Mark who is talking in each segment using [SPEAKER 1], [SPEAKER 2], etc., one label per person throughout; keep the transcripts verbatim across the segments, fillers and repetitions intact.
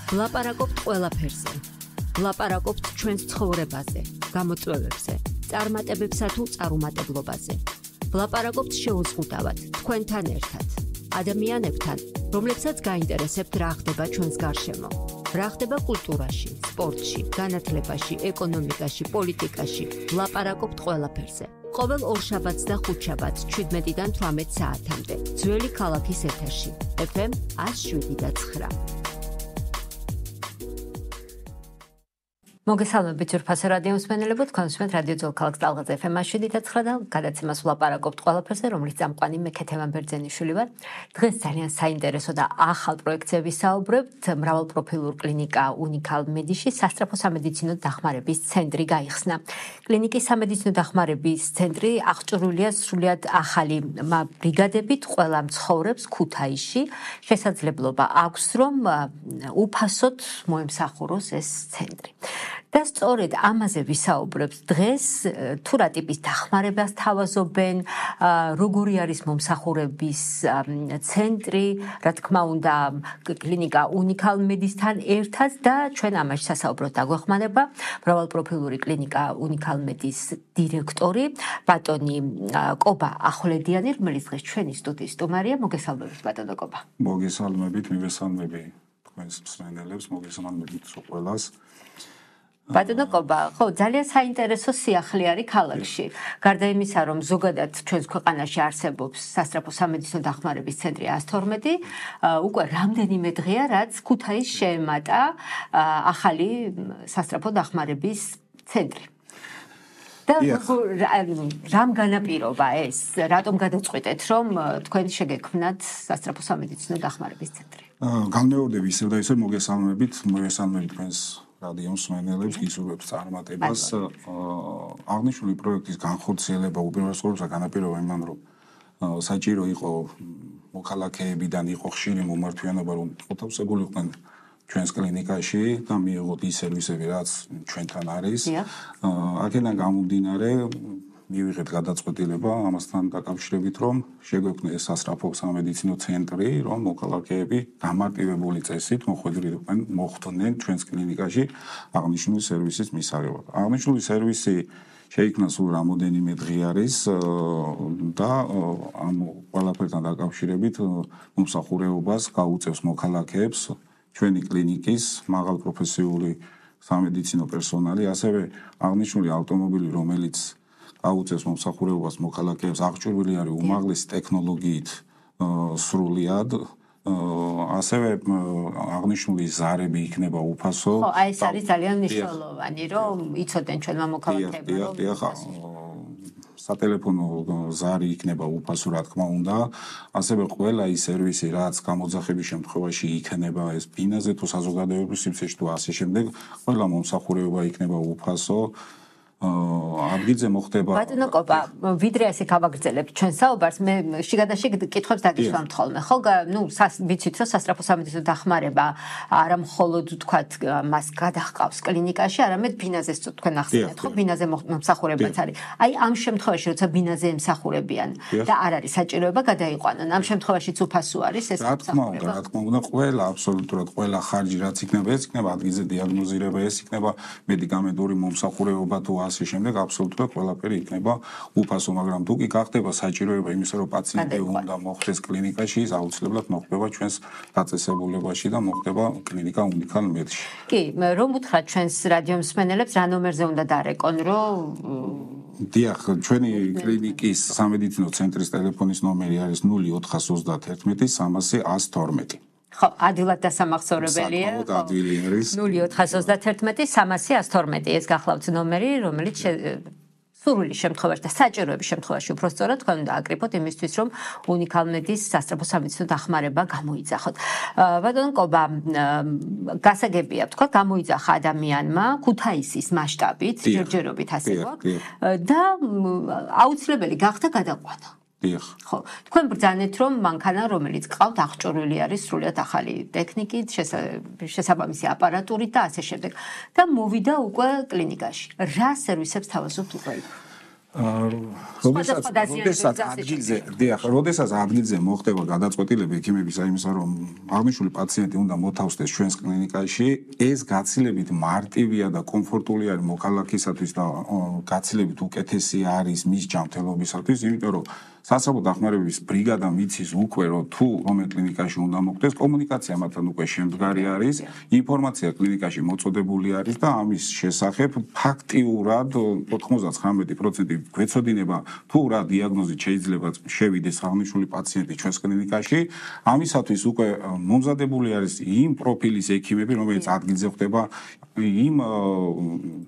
[SPEAKER 1] ვლაპარაკობთ ყველაფერზე. ვლაპარაკობთ ჩვენს ცხოვრებაზე, გამოწვევებზე, წარმატებებსა თუ წარუმატებლობაზე. ვლაპარაკობთ შეუზღუდავად, თქვენთან ერთად, ადამიანებთან, რომლებსაც გაინტერესებთ რა ხდება ჩვენს გარშემო. რა ხდება კულტურაში, სპორტში, განათლებაში, ეკონომიკაში, პოლიტიკაში. ვლაპარაკობთ ყველაფერზე. ყოველ ორშაბათს და ხუთშაბათს შვიდმეტიდან თვრამეტ საათამდე. ძველი ქალაქის ეთერში. ეფ ემ ათს შვიდი და ცხრა. მოგესალმებით ძვირფასო რადიო მსმენელებო, თქვენ უსმენთ რადიო ძველ ქალაქ ტალღაზე ეფ ემ ათს შვიდი და ცხრა და გადაცემას ვლაპარაკობთ ყველაფერზე, რომლის წამყვანი მე ქეთევან ბერძენიშვილი ვარ. დღეს ძალიან საინტერესო და ახალ პროექტზე ვისაუბრებთ. მრავალპროფილურ კლინიკა უნიკალ მედიში სასწრაფო სამედიცინო დახმარების ცენტრი გაიხსნა. კლინიკის სამედიცინო დახმარების ცენტრი აღჭურვილია სრულიად ახალი ბრიგადებით ყველა მცხოვრებს ქუთაისში. შესაძლებლობა აქვს, რომ უფასოდ მოემსახუროს ეს ცენტრი. და სწორედ ამაზე ვისაუბრებთ დღეს, თუ რა ტიპის დახმარებას თავაზობენ, როგორი არის მომსახურების ცენტრი, რა თქმა უნდა, კლინიკა უნიკალ მედისთან ერთად და ჩვენ ამაში სასაუბროთ დაგვეხმარება მრავალპროფილური კლინიკა უნიკალ მედის დირექტორი ბატონი კობა ახვლედიანი, რომელიც დღეს ჩვენი სტუდიის სტუმარია. მოგესალმებით ბატონო კობა.
[SPEAKER 2] მოგესალმებით, მივესალმები თქვენს მსმენელებს, მოგესალმებით ყველას.
[SPEAKER 1] ბატონო კობა, ხო, ძალიან საინტერესო სიახლე არის ქალაქში. გარდა იმისა, რომ ზოგადად ჩვენს ქვეყანაში არსებობს სასწრაფო სამედიცინო დახმარების ცენტრი ას თორმეტი, უკვე რამდენიმე დღეა, რაც ქუთაისს შეემატა ახალი სასწრაფო დახმარების ცენტრი. და რამ განაპირობა ეს? რატომ გადაწყვეტეთ, რომ თქვენ შეგექმნათ სასწრაფო სამედიცინო დახმარების ცენტრი?
[SPEAKER 2] განმეორდები ისევ და ისევ მოგესალმებით, მოგესალმებით თქვენს რადიო მსმენელებს, გისურვებთ წარმატებას. აღნიშნული პროექტის განხორციელება უპირველესად განაპირობა იმან, რომ საჭირო იყო მოქალაქეებიდან იყო ხშირი მომართვიანობა, რომ მოთავსებულიყვნენ ჩვენს კლინიკაში და მიიღოთ ის სერვისები, რაც ჩვენთან არის. აქედან გამომდინარე მივიღეთ გადაწყვეტილება ამასთან დაკავშირებით, რომ შეგვექმნეს სასწრაფო სამედიცინო ცენტრი, რომ მოქალაქეები გამარტივებული წესით მოხვედრილიყვნენ, მოხვდნენ ჩვენს კლინიკაში აღნიშნული სერვისის მისაღებად. აღნიშნული სერვისი შეიქმნა სულ რამოდენიმე დღე არის და ამ ყველაფერთან დაკავშირებით მომსახურებას გაუწევს მოქალაქეებს ჩვენი კლინიკის მაღალპროფესიული სამედიცინო პერსონალი, ასევე აღნიშნული ავტომობილი, რომელიც აუწევს მომსახურებას მოქალაქეებს, აღჭურვილი არის უმაღლესი ტექნოლოგიით სრულიად, ასევე აღნიშნული ზარები იქნება უფასო.
[SPEAKER 1] ხო, აი ეს არის ძალიან მნიშვნელოვანი, რომ იცოდნენ ჩვენმა მოქალაქეებმა, რომ
[SPEAKER 2] სატელეფონო ზარი იქნება უფასო, რა თქმა უნდა, ასევე ყველა ის სერვისი, რაც გამოძახების შემთხვევაში იქნება ეს ბინაზე თუ საზოგადოებრივ სიმსივნეში თუ ასე შემდეგ, ყველა მომსახურება იქნება უფასო. ადგილზე მოხდება.
[SPEAKER 1] ბატონო კობა, ვიდრე ასე გავაგრძელებთ ჩვენ საუბარს, მე შიგადაშიგ კითხვებს დაგისვამთ ხოლმე. ხო, ნუ ვიცით, რომ სასწრაფო სამედიცინო დახმარება არა მხოლოდ თქვათ მას გადაჰყავს კლინიკაში, არამედ ბინაზეც თქვენ ახსენეთ, ხო, ბინაზე მომსახურებაც არის. აი ამ შემთხვევაში, როცა ბინაზე ემსახურებიან და არ არის საჭიროება გადაიყვანონ, ამ შემთხვევაშიც უფასო არის ეს
[SPEAKER 2] რა თქმა უნდა, რა თქმა უნდა, ყველა აბსოლუტურად ყველა ხარჯი რაც იქნება, ეს იქნება ადგილზე დიაგნოზირება, ეს იქნება მედიკამენტური მომსახურება თუ ასე შემდეგ აბსოლუტურად ყველაფერი იქნება უფასო, მაგრამ თუ კი გახდება საჭიროება იმისა, რომ პაციენტი უნდა მოხვდეს კლინიკაში, ის აუცილებლად მოხდება ჩვენს დაწესებულებაში და მოხდება კლინიკა უნიკალ მედში.
[SPEAKER 1] კი, რომ უთხრათ ჩვენს რადიო მსმენელებს, რა ნომერზე უნდა დარეკონ, რომ
[SPEAKER 2] დიახ, ჩვენი კლინიკის სამედიცინო ცენტრის ტელეფონის ნომერი არის ნული ოთხას ოცდაათი სამასი ას თორმეტი.
[SPEAKER 1] ხო, ადვილად დასამახსოვრებელია. ნული ოთხას ოცდაათი სამასი ას თორმეტი ეს გახლავთ ნომერი, რომელიც სურვილის შემთხვევაში და საჭიროების შემთხვევაში უпростоრად თქვენ უნდა აკრიფოთ იმისთვის, რომ უნიკალ მედის სასწრაფო სამედიცინო დახმარება გამოიძახოთ. ბატონო კობა, გასაგებია, თქვა გამოიძახა ადამიანმა ქუთაისის მასშტაბით, ჯერჯერობით ასე გვაქვს და აუცილებელი გახდა გადაყვანა. ხო, თქვენ ბრძანეთ, რომ მანქანა, რომელიც ყავთ, აღჭურვილი არის სრულიად ახალი ტექნიკით, შესაბამისი აპარატურით და ასე შემდეგ. და მოვიდა უკვე კლინიკაში. რა სერვისებს თავაზობთ უკვე?
[SPEAKER 2] როდესაც როდესაც ადგილზე დიახ, როდესაც ადგილზე მოხდება გადაწყვეტილება ექიმების აიმისა, რომ აღნიშნული პაციენტი უნდა მოთავსდეს ჩვენს კლინიკაში, ეს გაცილებით მარტივია და კომფორტული არის მოქალაქისათვის და გაცილებით უკეთესი არის მის ჯანმრთელობისათვის, იმიტომ რომ სასწრაფო დახმარების ბრიგადა მიცის უკვე რომ თუ რომელ კლინიკაში უნდა მოხდეს, კომუნიკაცია მათთან უკვე შემდგარი არის, ინფორმაცია კლინიკაში მოწოდებული არის და ამის შესახებ ფაქტიურად ოთხმოცდათხრამეტი პროცენტი გვეცოდინება თუ რა დიაგნოზით შეიძლება შევიდეს აღნიშნული პაციენტი ჩვენს კლინიკაში, ამისათვის უკვე მომზადებული არის იმ პროფილის ექიმები, რომელიც ადგილზე ხდება, იმ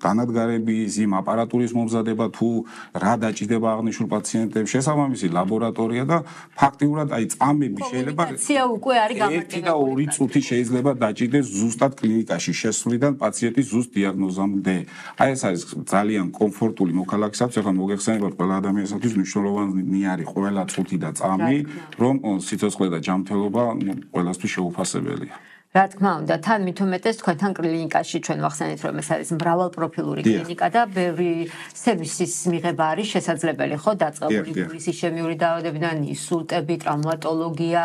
[SPEAKER 2] განადგარების, იმ აპარატურის მომზადება თუ რა დაჭირდება აღნიშნულ პაციენტებს, შესაბამისი ლაბორატორია და ფაქტიურად აი წამები შეიძლება
[SPEAKER 1] კომუნიკაცია უკვე არის გამარტივებული.
[SPEAKER 2] ერთი და ორი წუთი შეიძლება დაჭირდეს ზუსტად კლინიკაში შესვლიდან პაციენტის ზუსტ დიაგნოზამდე. აი ეს არის ძალიან კომფორტული მოქალაქისათვის, ახლა მოგეხსენებათ ყველა ადამიანისათვის მნიშვნელოვანი არის ყველა წუთი და წამი, რომ სიცოცხლე და ჯანმრთელობა ყველასთვის შეუფასებელია.
[SPEAKER 1] რა თქმა უნდა, თან მით უმეტეს თქვენთან კლინიკაში ჩვენ ვახსენეთ, რომ ეს არის მრავალპროფილური კლინიკა და ბევრი სერვისის მიღება არის შესაძლებელი, ხო, დაწყებული გულისისშემიური დაავადებიდან, ინსულტები, ტრავმატოლოგია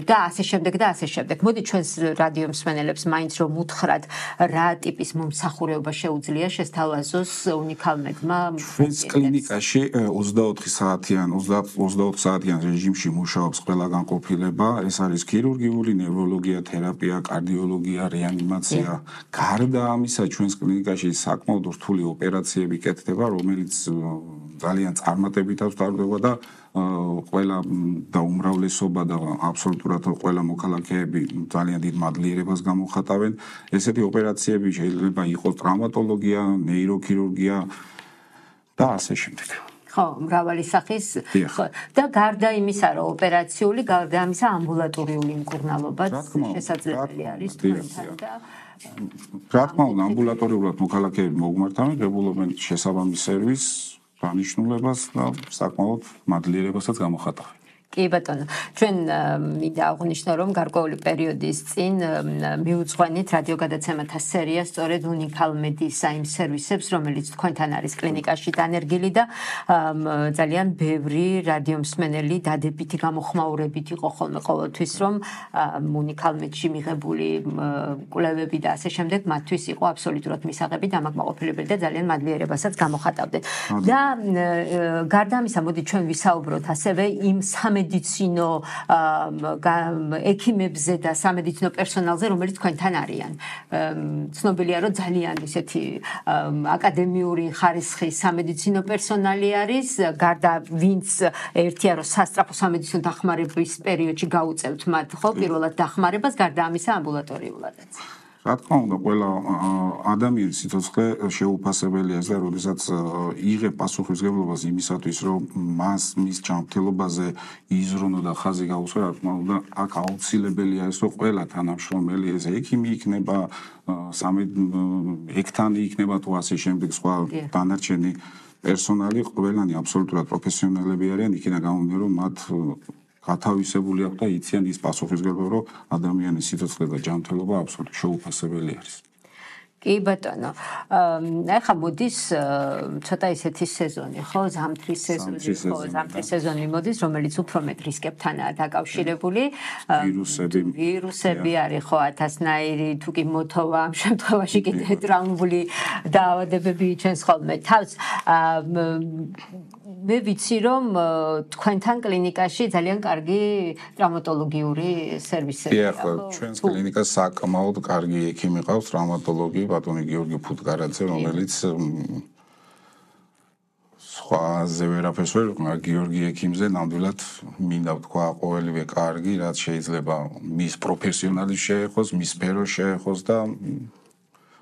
[SPEAKER 1] და ასე შემდეგ და ასე შემდეგ. მოდი ჩვენს რადიო მსმენელებს მაინც რომ უთხრათ, რა ტიპის მომსახურება შეუძლია შესთავაზოს უნიკალმედმა.
[SPEAKER 2] ჩვენს კლინიკაში ოცდაოთხი საათიან, ოცდაოთხ საათიან რეჟიმში მუშაობს ყველა განყოფილება, ეს არის ქირურგიული, ნევროლოგია, თერაპია, კარდიოლოგია, რეანიმაცია. გარდა ამისა, ჩვენს კლინიკაში საკმაოდ რთული ოპერაციები კეთდება, რომელიც ძალიან წარმატებითაც ტარდება და ყველა და უმრავლესობა და აბსოლუტურად ყველა მოქალაქეები ძალიან დიდ მადლიერებას გამოხატავენ. ესეთი ოპერაციები შეიძლება იყოს ტრავმატოლოგია, ნეიროქირურგია და ასე შემდეგ.
[SPEAKER 1] ხო, მრავალი სახის და გარდა იმისა, რომ ოპერაციული, გარდა ამისა ამბულატორიული მკურნალობაც შესაძლებელი არის თქვენთან და
[SPEAKER 2] რა თქმა უნდა, ამბულატორიულად მოქალაქეები მოგმართავენ, ღებულობენ შესაბამის სერვისს, დანიშნულებას და საკმაოდ მადლიერებასაც გამოხატავენ.
[SPEAKER 1] კი ბატონო, ჩვენ მინდა აღვნიშნო, რომ გარკვეული პერიოდის წინ მიუძღვენით რადიო გადაცემათა სერია სწორედ უნიკალმედის იმ სერვისებს, რომელიც თქვენთან არის კლინიკაში დანერგილი და ძალიან ბევრი რადიო მსმენელი დადებითი გამოხმაურებით იყო ხოლმე ყოველთვის, რომ უნიკალმედში მიღებული კვლევები და ასე შემდეგ მათთვის იყო აბსოლუტურად მისაღები და ამაკმაყოფილებელი და ძალიან მადლიერებასაც გამოხატავდნენ. და გარდა ამისა, მოდი ჩვენ ვისაუბროთ ასევე იმ სამედიცინო ექიმებზე და სამედიცინო პერსონალზე, რომელიც თქვენთან არიან. ცნობილია, რომ ძალიან ისეთი აკადემიური ხარისხის სამედიცინო პერსონალი არის, გარდა ვინც ერთია, რომ სასწრაფო სამედიცინო დახმარების პერიოდში გაუწევთ მათ, ხო, პირველად დახმარებას, გარდა ამისა ამბულატორიულადაც.
[SPEAKER 2] რა თქმა უნდა, ყველა ადამიანის სიცოცხლე შეუფასებელია და როდესაც იღებ პასუხისმგებლობას იმისათვის, რომ მას მის ჯანმრთელობაზე იზრუნო და ხაზი გაუსვა, რა თქმა უნდა, აქ აუცილებელია ის, რომ ყველა თანამშრომელი, ეს ექიმი იქნება, ექთანი იქნება თუ ასე შემდეგ, სხვა დანარჩენი პერსონალი, ყველანი აბსოლუტურად პროფესიონალები არიან, იქიდან გამომდინარე, რომ მათ გათავისებული აქვს და იციან ის პასუხისმგებლობა, რომ ადამიანის სიცოცხლე და ჯანმრთელობა აბსოლუტურად შეუფასებელი არის.
[SPEAKER 1] კი ბატონო. ახლა მოდის ცოტა ისეთი სეზონი, ხო, ზამთრის სეზონი, ხო, ზამთრის სეზონი მოდის, რომელიც უფრო მეტ რისკებთანაა დაკავშირებული.
[SPEAKER 2] ვირუსები,
[SPEAKER 1] ვირუსები არის, ხო, ათასნაირი, თუ კი მოთოვა, ამ შემთხვევაში კიდე ტრაუმული დაავადებები იჩენს ხოლმე თავს. მე ვიცი, რომ თქვენთან კლინიკაში ძალიან კარგი ტრავმატოლოგიური სერვისებია.
[SPEAKER 2] ხო, ჩვენს კლინიკას საკმაოდ კარგი ექიმი ყავს, ტრავმატოლოგი, ბატონი გიორგი ფუტკარაძე, რომელიც სხვაზე ვერაფერს ვერ ვიყნა, გიორგი ექიმზე ნამდვილად მინდა ვთქვა ყოველივე კარგი, რაც შეიძლება მის პროფესიონალის შეეხოს, მის სფეროს შეეხოს და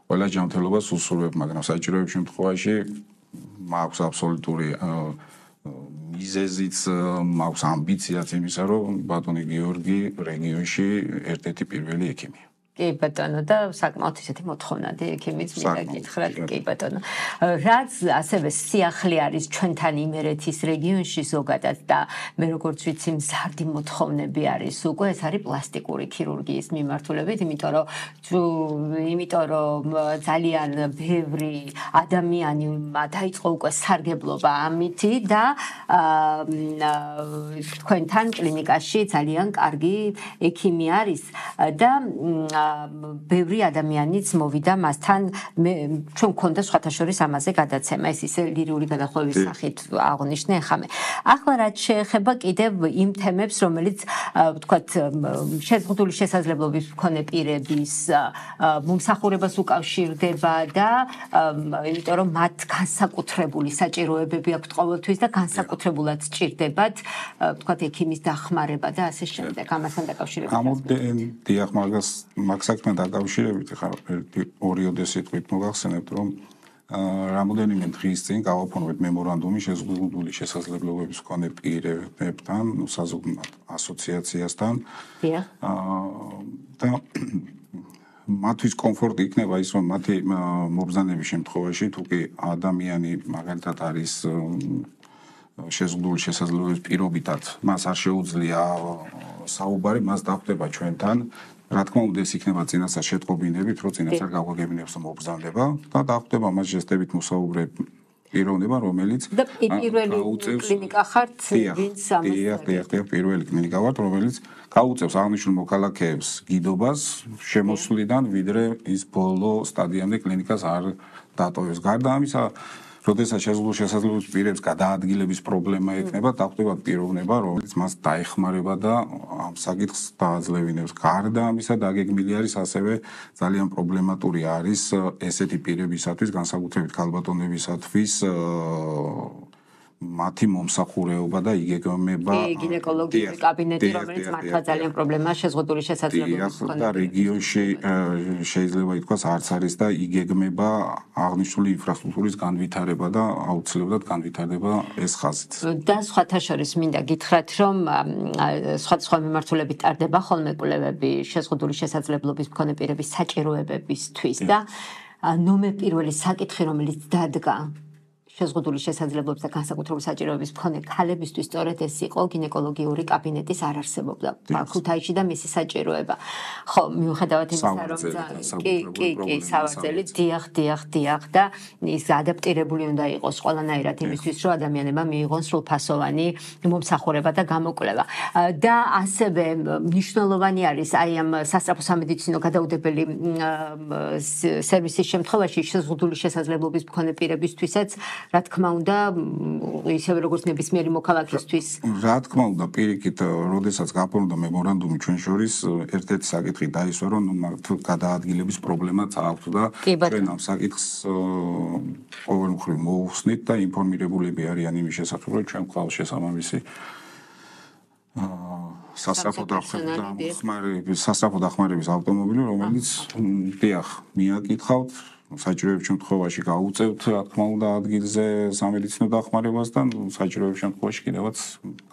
[SPEAKER 2] ყველა ჯანმრთელობას უსურვებ, მაგრამ საჭიროების შემთხვევაში მაქვს აბსოლუტური მიზეზიც, მაქვს ამბიციაც იმისა, რომ ბატონი გიორგი რეგიონში ერთ-ერთი პირველი ექიმია.
[SPEAKER 1] კი ბატონო და საკმაოდ ისეთი მოთხოვნადი ექიმიც მინდა გითხრათ კი ბატონო რაც ასევე სიახლე არის ჩვენთან იმერეთის რეგიონში ზოგადად და მე როგორც ვიცი მზარდი მოთხოვნები არის უკვე ეს არის პლასტიკური ქირურგიის მიმართულებით იმიტომ რომ იმიტომ რომ ძალიან ბევრი ადამიანი დაიწყო უკვე სარგებლობა ამითი და თქვენთან კლინიკაში ძალიან კარგი ექიმი არის და ბევრი ადამიანიც მოვიდა მასთან ჩვენ გქონდა სხვათა შორის ამაზე გადაცემა ეს ისე ლირიული გადახვევის სახით აღნიშნე ხამე ახლა რაც შეეხება კიდევ იმ თემებს რომელიც ვთქვათ შეზღუდული შესაძლებლობის მქონე პირების მომსახურებას უკავშირდება და იმიტომ რომ მათ განსაკუთრებული საჭიროებები აქვთ ყოველთვის და განსაკუთრებულად სჭირდებათ ვთქვათ ექიმის დახმარება და ასე შემდეგ ამასთან დაკავშირებით
[SPEAKER 2] დიახ მაგას მაგ საქმესთან დაკავშირებით ხა ორიოდე სიტყვით მოგახსენებთ რომ რამოდენიმე დღის წინ გავაფორმეთ მემორანდუმი შეზღუდული შესაძლებლობების მქონე პირებთან საზოგადო ასოციაციასთან და მათთვის კომფორტი იქნება ის რომ მათი მობრძანების შემთხვევაში თუ კი ადამიანი მაგალითად არის შეზღუდული შესაძლებლობის პირობითად მას არ შეუძლია საუბარი მას დახვდება ჩვენთან რა თქმა უნდა ეს იქნება წინასწარ შეტყობინებით რომ წინასწარ გავაგებინებს მობრძანდება და დახვდება მას ჟესტებით მოსაუბრე პიროვნება რომელიც
[SPEAKER 1] და პირველი კლინიკა ხართ ვინც ამას
[SPEAKER 2] დიახ პირველი კლინიკა ვართ რომელიც გაუწევს აღნიშნულ მოქალაქეებს გიდობას შემოსვლიდან ვიდრე ის ბოლო სტადიამდე კლინიკას არ დატოვებს გარდა ამისა როდესაც შეზღუდული შესაძლებლობის პირებს გადაადგილების პრობლემა ექნება, დახვდება პიროვნება, რომელიც მას დაეხმარება და ამ საკითხს დააძლევინებს. გარდა ამისა, დაგეგმილი არის ასევე ძალიან პრობლემატური არის ესეთი პირებისათვის, განსაკუთრებით ქალბატონებისათვის მათი მომსახურეობა და იგეგმება
[SPEAKER 1] გინეკოლოგიური კაბინეტი, რომელიც მართლა ძალიან პრობლემაა შეზღუდული შესაძლებლობის
[SPEAKER 2] მქონე და რეგიონში შეიძლება ითქვას არც არის და იგეგმება აღნიშნული ინფრასტრუქტურის განვითარება და აუცილებლად განვითარდება ეს ხაზით.
[SPEAKER 1] და სხვათა შორის მინდა გითხრათ, რომ სხვადასხვა მიმართულებით ტარდება ხოლმე კვლევები შეზღუდული შესაძლებლობის მქონე პირების საჭიროებებისთვის და ნომერ პირველი საკითხი, რომელიც დადგა შეზღუდული შესაძლებლობის და განსაკუთრებული საჭიროების მქონე ქალებისთვის სწორედ ეს იყო გინეკოლოგიური კაბინეტის არარსებობა ქუთაისში და მისი საჭიროება. ხო, მიუხედავად იმისა, რომ კი, კი, კი, სავარძელი, დიახ, დიახ, დიახ და ის ადაპტირებული უნდა იყოს ყველანაირად იმისთვის, რომ ადამიანებმა მიიღონ სრულფასოვანი მომსახურება და გამოკვლევა. და ასევე მნიშვნელოვანი არის აი ამ სასწრაფო სამედიცინო გადაუდებელი სერვისის შემთხვევაში შეზღუდული შესაძლებლობის მქონე პირებისთვისაც რა თქმა უნდა, ისევე როგორც ნებისმიერი მოქალაქისთვის.
[SPEAKER 2] რა თქმა უნდა, პირიქით, როდესაც გაფორმდა მემორანდუმი ჩვენ შორის, ერთ-ერთი საკითხი დაისვა, რომ გადაადგილების პრობლემაც აქვს და ჩვენ ამ საკითხს ყოველ მხრივ მოუხსნით და ინფორმირებულები არიან იმის შესახებ, რომ ჩვენ გვყავს შესაბამისი სასწრაფო დახმარების სასწრაფო დახმარების ავტომობილი, რომელიც დიახ, მიაკითხავთ საჭიროების შემთხვევაში გაუწევთ, რა თქმა უნდა, ადგილზე სამედიცინო დახმარებას და საჭიროების შემთხვევაში კიდევაც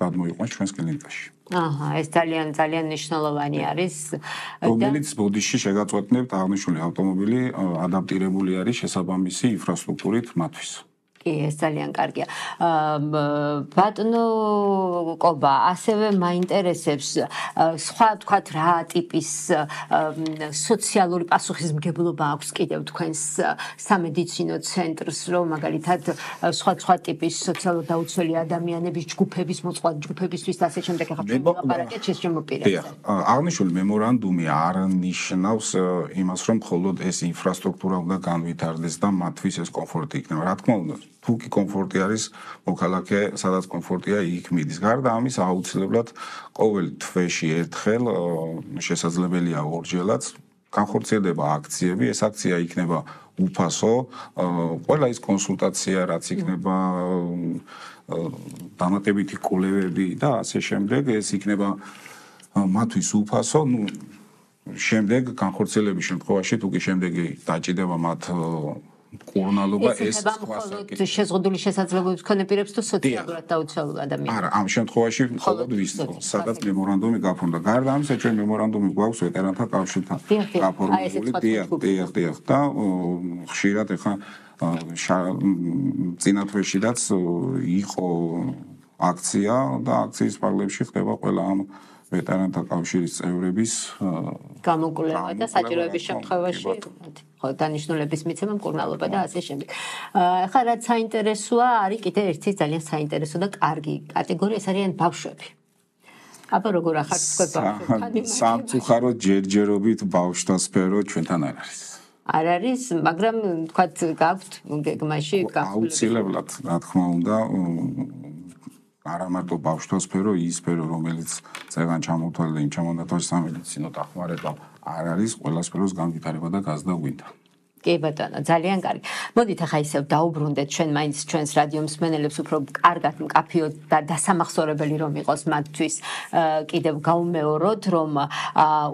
[SPEAKER 2] გადმოიყვანს ჩვენს კლინიკაში.
[SPEAKER 1] აჰა, ეს ძალიან ძალიან მნიშვნელოვანი არის.
[SPEAKER 2] რომელიც ბოდიში შეგაწყვეტნებთ აღნიშნული ავტომობილი ადაპტირებული არის შესაბამისი ინფრასტრუქტურით მათთვის.
[SPEAKER 1] კი, ეს ძალიან კარგია. ბატონო კობა, ასევე მაინტერესებს სხვა თქვათ რა ტიპის სოციალური პასუხისმგებლობა აქვს კიდევ თქვენს სამედიცინო ცენტრს, რომ მაგალითად სხვა სხვა ტიპის სოციალურად დაუცველი ადამიანების ჯგუფების მოწყვა ჯგუფებისთვის და ასე შემდეგ ახლა ჩვენ ვილაპარაკეთ შეს შემოპირებზე.
[SPEAKER 2] აღნიშნული მემორანდუმი არ ნიშნავს იმას, რომ მხოლოდ ეს ინფრასტრუქტურა უნდა განვითარდეს და მათთვის ეს კომფორტი იქნება. რა თქმა უნდა, თუ კი კომფორტი არის მოქალაქე, სადაც კომფორტია, იქ მიდის. გარდა ამის აუცილებლად ყოველ თვეში ერთხელ შესაძლებელია ორჯერაც განხორციელდება აქციები. ეს აქცია იქნება უფასო, ყველა ის კონსულტაცია, რაც იქნება დამატებითი კვლევები და ასე შემდეგ, ეს იქნება მათთვის უფასო. ნუ შემდეგ განხორციელების შემთხვევაში თუ კი შემდეგი დაჭიდება მათ მკურნალობა ეს
[SPEAKER 1] სხვა საკითხი. შეზღუდული შესაძლებლობების მქონე პირებს თუ სოციალურად დაუცველულ ადამიანებს.
[SPEAKER 2] არა, ამ შემთხვევაში მხოლოდ ვის, სადაც მემორანდუმი გაფორმდა. გარდა ამისა, ჩვენ მემორანდუმი გვაქვს ვეტერანთა კავშირთან გაფორმებული. დიახ, დიახ, დიახ და ხშირად ეხა წინა თვეშიდაც იყო აქცია და აქციის პარლებში ხდება ყველა ამ ვეტერანთა კავშირის წევრების
[SPEAKER 1] გამოკვლევა და საჭიროების შემთხვევაში ხო დანიშნულების მიცემა, მკურნალობა და ასე შემდეგ. ახლა რაც საინტერესოა, არის კიდე ერთი ძალიან საინტერესო და კარგი კატეგორია, ეს არიან ბავშვები. აბა როგორ ახართ თქვენ
[SPEAKER 2] სამწუხაროდ ჯერჯერობით ბავშვთა სფერო ჩვენთან არ არის.
[SPEAKER 1] არ არის, მაგრამ თქვათ გაქვთ გეგმაში
[SPEAKER 2] აუცილებლად, რა თქმა უნდა, არა მარტო ბავშვთა სფერო, ის სფერო, რომელიც წეგან ჩამოთვალე და იმ ჩამონათვალე სამედიცინო დახმარება არ არის, ყველა სფეროს განვითარება და გაზრდა გვინდა.
[SPEAKER 1] კი ბატონო, ძალიან კარგი. მოდით ახლა ისევ დაუბრუნდეთ ჩვენ მაინც ჩვენს რადიო მსმენელებს უფრო კარგად მკაფიოდ და დასამახსოვრებელი რომ იყოს მათთვის კიდევ გავუმეოროთ, რომ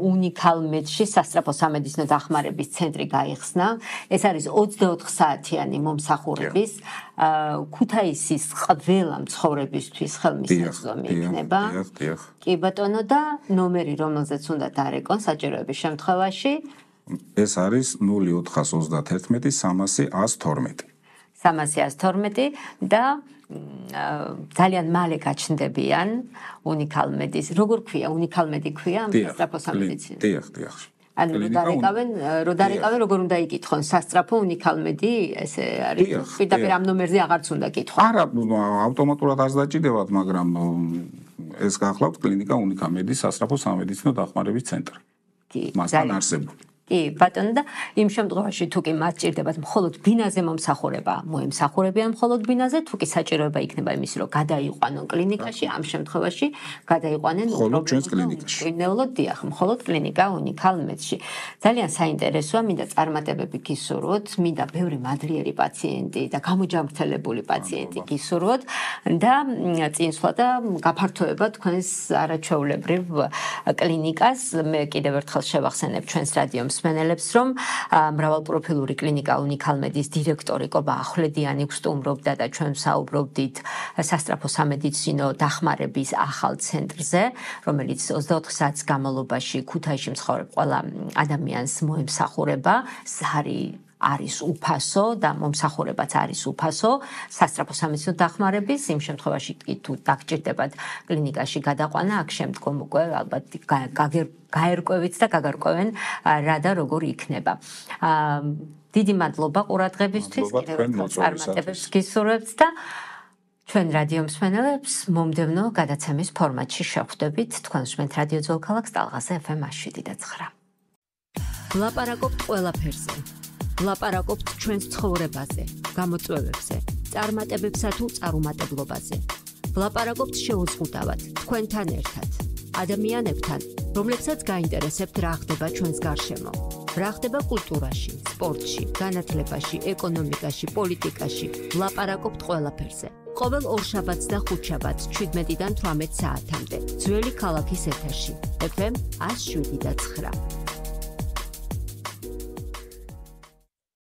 [SPEAKER 1] უნიკალ მედში სასწრაფო სამედიცინო დახმარების ცენტრი გაიხსნა. ეს არის ოცდაოთხ საათიანი მომსახურების ქუთაისის ყველა მცხოვრებისთვის ხელმისაწვდომი იქნება. კი ბატონო და ნომერი რომელზეც უნდა დარეკონ საჭიროების შემთხვევაში
[SPEAKER 2] ეს არის ნული ოთხას ოცდაათერთმეტი სამასი ას თორმეტი.
[SPEAKER 1] სამასი ას თორმეტი და ძალიან მალე გაჩნდებიან უნიკალ მედის. როგორ ქვია უნიკალ მედი ქვია ამ სასწრაფო სამედიცინო?
[SPEAKER 2] დიახ, დიახ.
[SPEAKER 1] ანუ როდარეკავენ, როდარეკავენ როგორ უნდა იკითხონ სასწრაფო უნიკალ მედი, ესე არის. პირდაპირ ამ ნომერზე აღარც უნდა კითხონ.
[SPEAKER 2] არა, ავტომატურად არ დაჭირდებათ, მაგრამ ეს გახლავთ კლინიკა უნიკალ მედის სასწრაფო სამედიცინო დახმარების ცენტრი.
[SPEAKER 1] კი,
[SPEAKER 2] მასთან არსებული.
[SPEAKER 1] კი, ბატონო და იმ შემთხვევაში თუ კი მათ ჭირდებათ მხოლოდ ბინაზე მომსახურება, მოემსახურებიან მხოლოდ ბინაზე, თუ კი საჭიროება იქნება იმის, რომ გადაიყვანონ კლინიკაში, ამ შემთხვევაში გადაიყვანენ
[SPEAKER 2] მხოლოდ ჩვენს კლინიკაში.
[SPEAKER 1] უბრალოდ დიახ, მხოლოდ კლინიკა უნიკალ მედში. ძალიან საინტერესოა, მინდა წარმატებები გისურვოთ, მინდა ბევრი მადლიერი პაციენტი და გამოჯანმრთელებული პაციენტი გისურვოთ და წინსვლა და გაფართოება თქვენს არაჩვეულებრივ კლინიკას. მე კიდევ ერთხელ შევახსენებ ჩვენს რადიო მსმენელებს, რომ მრავალპროფილური კლინიკა უნიკალ მედის დირექტორი კობა ახვლედიანი გსტუმრობდა და ჩვენ საუბრობდით სასწრაფო სამედიცინო დახმარების ახალ ცენტრზე, რომელიც ოცდაოთხ საათის განმავლობაში ქუთაისში მცხოვრებ ყველა ადამიანს მოემსახურება. ზარი არის უფასო და მომსახურებაც არის უფასო სასწრაფო სამედიცინო დახმარების. იმ შემთხვევაში თუ დაგჭირდებათ კლინიკაში გადაყვანა, აქ შემდგომ უკვე ალბათ გაერკვევით და გაგარკვევენ რა და როგორ იქნება. დიდი მადლობა ყურადღებისთვის, კიდევ ერთხელ წარმატებებს გისურვებთ და ჩვენ რადიო მსმენელებს მომდევნო გადაცემის ფორმატში შევხვდებით. თქვენ უსმენთ რადიო ძველქალაქს ტალღაზე ეფ ემ ათი შვიდი და ცხრა. ვლაპარაკობთ ყველაფერზე. ვლაპარაკობთ ჩვენს ცხოვრებაზე, გამოწვევებზე, წარმატებებსა თუ წარუმატებლობაზე. ვლაპარაკობთ შეუზღუდავად, თქვენთან ერთად, ადამიანებთან, რომლებსაც გაინტერესებთ რა ხდება ჩვენს გარშემო. რა ხდება კულტურაში, სპორტში, განათლებაში, ეკონომიკაში, პოლიტიკაში. ვლაპარაკობთ ყველაფერზე. ყოველ ორშაბათს და ხუთშაბათს შვიდმეტიდან თვრამეტ საათამდე. ძველი ქალაქის ეთერში. ეფ ემ ათი შვიდი და ცხრა.